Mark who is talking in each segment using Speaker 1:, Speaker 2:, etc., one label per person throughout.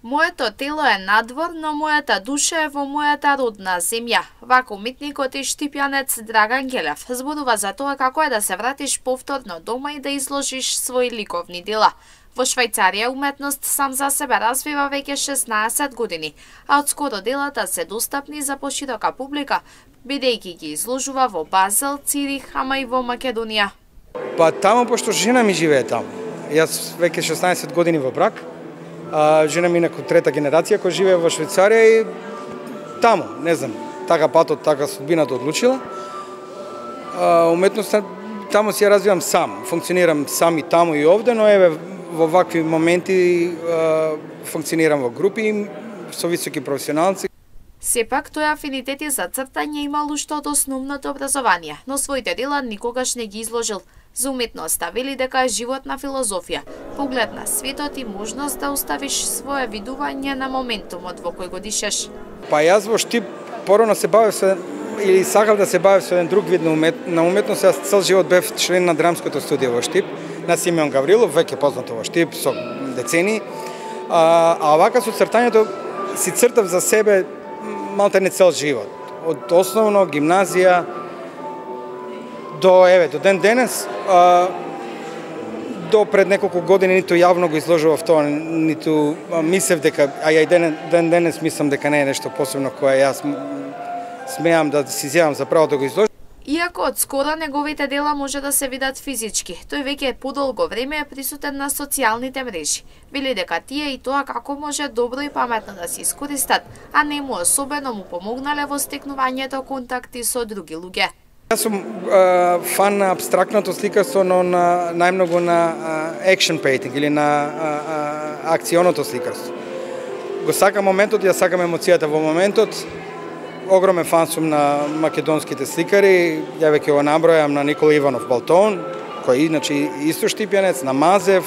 Speaker 1: Моето тело е надвор, но мојата душа е во мојата родна земја. Вака уметникот и штипјанец Драган Ѓелев зборува за тоа како е да се вратиш повторно дома и да изложиш своји ликовни дела. Во Швајцарија уметност сам за себе развива веќе 16 години, а одскоро делата се достапни за поширока публика, бидејќи ги изложува во Базел, Цирих, ама и во Македонија.
Speaker 2: Па таму, пошто жена ми живее таму. Јас веќе 16 години во брак. Жена ми инаку трета генерација која живее во Швајцарија и таму, не знам, така патот, така судбината одлучила. Уметноста таму си ја развивам сам, функционирам сам и таму и овде, но еве во вакви моменти функционирам во групи со високи професионалци.
Speaker 1: Сепак тој афинитети за цртање имал уште од основното образование, но своите дела никогаш не ги изложил. За уметноста вели дека е животна филозофија, поглед на светот и можност да оставиш свое видување на моментумот во кој го дишеш.
Speaker 2: Па јас во Штип порано се бавев со или сакав да се бавев со еден друг вид на уметност. Јас цел живот бев член на драмското студио во Штип, на Симеон Гаврилов, веќе познато во Штип со децени. А вака со цртањето си цртав за себе малтене цел живот. Од основно гимназија до ден денес, до пред неколку години ниту јавно го изложував тоа, ниту мислев дека, а ја и ден денес мислам дека не е нешто посебно кое јас смеам да си земам за право да го изложам.
Speaker 1: Иако од скоро неговите дела може да се видат физички, тој веќе подолго време е присутен на социјалните мрежи. Вели дека тие и тоа како може добро и паметно да се искористат, а не му особено му помогнале во стекнувањето контакти со други луѓе.
Speaker 2: Јас сум фан на абстрактното сликарство, но најмногу на action painting или на акционото сликарство. Го сакам моментот, ја сакам емоцијата во моментот. Огромен фан сум на македонските сликари, ја веќе го набројам на Никола Иванов Балтон, кој иначе исто штипјанец, на Мазев,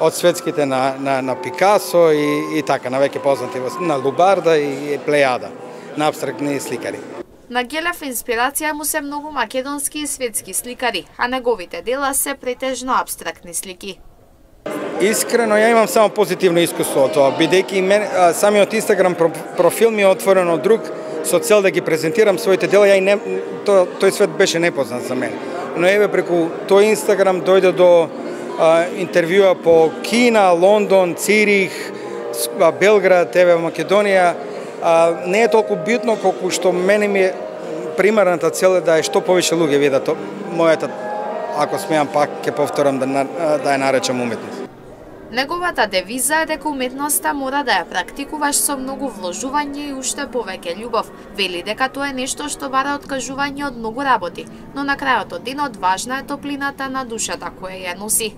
Speaker 2: од светските на Пикасо и така, на веќе познати на Лубарда и Плејада, на абстрактни сликари.
Speaker 1: На Ѓелев инспирација му се многу македонски и светски сликари, а неговите дела се претежно абстрактни слики.
Speaker 2: Искрено, ја имам само позитивно искуство од тоа, бидејќи самиот Инстаграм профил ми е отворен од друг, со цел да ги презентирам своите дела, тој свет беше непознат за мене. Но еве преку тој Инстаграм дојде до интервјуа по Кина, Лондон, Цирих, Белград, еве Македонија. Не е толку битно колку што мене ми е примарната цел е да е што повеќе луѓе видат мојата, ако смеам пак ќе повторам да ја наречам уметност.
Speaker 1: Неговата девиза е дека уметноста мора да ја практикуваш со многу вложување и уште повеќе љубов. Вели дека тоа е нешто што бара откажување од многу работи, но на крајот од денот важна е топлината на душата која ја носи.